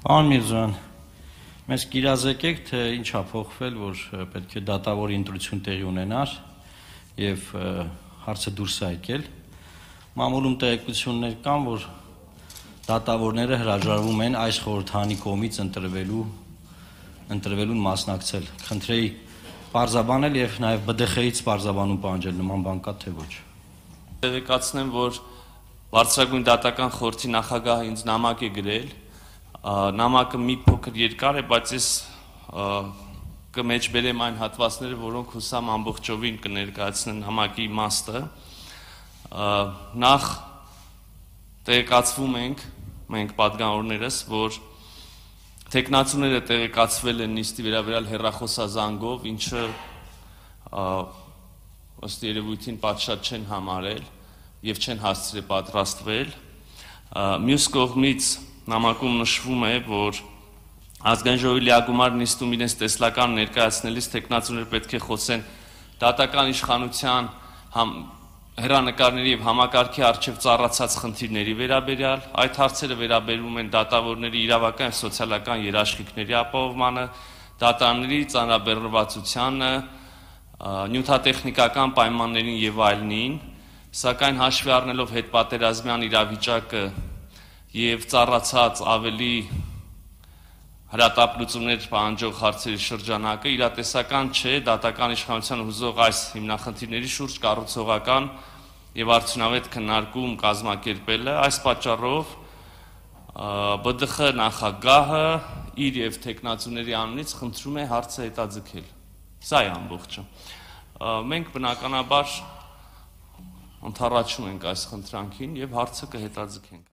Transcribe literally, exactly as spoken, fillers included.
Պարոն Միրզոյան, մեզ կիրազեկեք, թե ինչ ա փոխվել, որ պետք է դատավորի ընտրություն տեղի ունենար եւ հարցը դուրս է եկել։ Մամուլում տեղեկություններ կան, որ դատավորները հրաժարվում են այս խորհրդանի կողմից ընտրվելու ընտրվելուն մասնակցել։ Խնդրեի պարզաբանել եւ նաեւ B D X-ից պարզաբանում պահանջել, նման բան կա թե ոչ։ Տեղեկացնեմ, որ Բարձրագույն դատական խորհրդի նախագահը ինձ նամակ է գրել, նամակը մի փոքր երկար է, բայց ես կմեջբերեմ այն հատվածները, որոնք հուսամ ամբողջովին կներկայացնեն նամակի իմաստը։ Նախ տեղեկացվում ենք, մենք պատգամավորներս, որ թեկնածուները տեղեկացվել են նիստի վերաբերյալ հեռախոսազանգով, ինչը ըստ երևույթին պատշաճ չեն համարել եւ չեն հասցրել պատրաստվել։ Մյուս կողմից նամակում նշվում է, որ ազգային ժողովի լիագումար նիստում իրենց տեսլական ներկայացնելիս թեկնածուները պետք է խոսեն դատական իշխանության հեռանկարների եւ համակարգի առջեւ ծառացած խնդիրների վերաբերյալ, այդ հարցերը վերաբերում են դատավորների իրավական եւ սոցիալական երաշխիքների ապահովմանը, դատարանների ծանրաբեռնվածությանը, նյութատեխնիկական պայմաններին եւ այլնին, սակայն հաշվի առնելով հետպատերազմյան իրավիճակը եւ ծառացած ավելի հրատապլուծումներ պահանջող հարցերի շրջանակը իրատեսական չէ դատական իշխանության հուզող այս հիմնախնդիրների շուրջ կառուցողական եւ արդյունավետ քննարկում կազմակերպելը։ Այս պատճառով B D X նախագահը իր եւ թեկնածուների անունից խնդրում է հարցը հետաձգել։ Սա է ամբողջը։ Մենք բնականաբար ընդառաջում ենք այս խնդրանքին եւ հարցը կհետաձգենք։